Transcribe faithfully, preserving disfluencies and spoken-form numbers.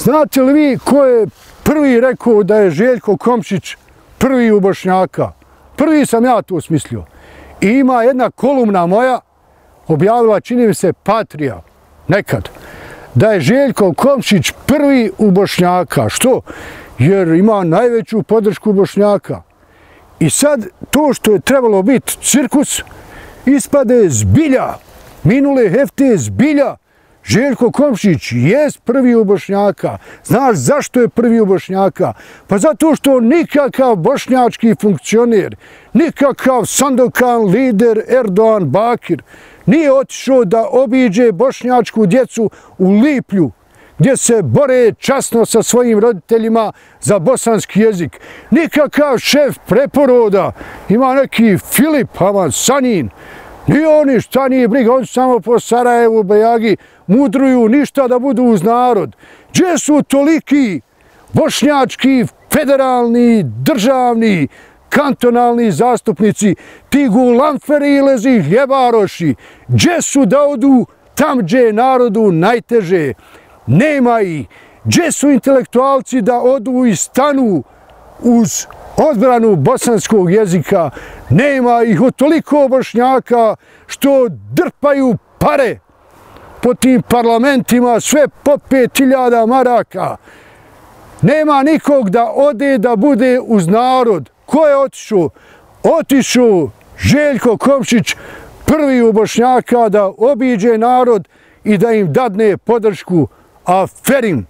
Znate li vi ko je prvi rekao da je Željko Komšić prvi u Bošnjaka? Prvi sam ja to smislio. I ima jedna kolumna moja, objavila, čini mi se, Patrija, nekad, da je Željko Komšić prvi u Bošnjaka. Što? Jer ima najveću podršku Bošnjaka. I sad to što je trebalo biti cirkus, ispade zbilja, minule hefte zbilja. Željko Komšić jest prvi u Bošnjaka. Znaš zašto je prvi u Bošnjaka? Pa zato što nikakav bošnjački funkcioner, nikakav Sandokan lider Erdogan Bakir nije otišao da obiđe bošnjačku djecu u Liplju, gdje se bore časno sa svojim roditeljima za bosanski jezik. Nikakav šef preporoda, ima neki Filip Haman Sanin, ni oni šta nije briga, oni samo po Sarajevu, Bajagi mudruju, ništa da budu uz narod. Gdje su toliki bošnjački, federalni, državni, kantonalni zastupnici, ti gulamferi i lezi hljebaroši? Gdje su da odu tam gdje je narodu najteže? Nema ih. Gdje su intelektualci da odu i stanu uz odbranu bosanskog jezika? Nema ih. Od toliko Bošnjaka što drpaju pare po tim parlamentima, sve po pet hiljada maraka. Nema nikog da ode da bude uz narod. Ko je otišao? Otišao Željko Komšić, prvi u Bošnjaka, da obiđe narod i da im dadne podršku. Aferin!